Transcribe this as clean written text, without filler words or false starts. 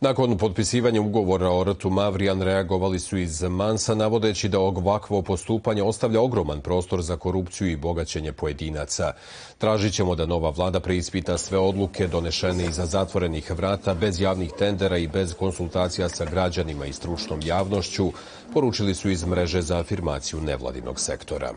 Nakon potpisivanja ugovora o rtu Mavrijan reagovali su iz Mansa navodeći da ovakvo postupanje ostavlja ogroman prostor za korupciju i bogaćenje pojedinaca. Tražit ćemo da nova vlada preispita sve odluke donešene iza zatvorenih vrata, bez javnih tendera i bez konsultacija sa građanima i stručnom javnošću, poručili su iz mreže za afirmaciju nevladinog sektora.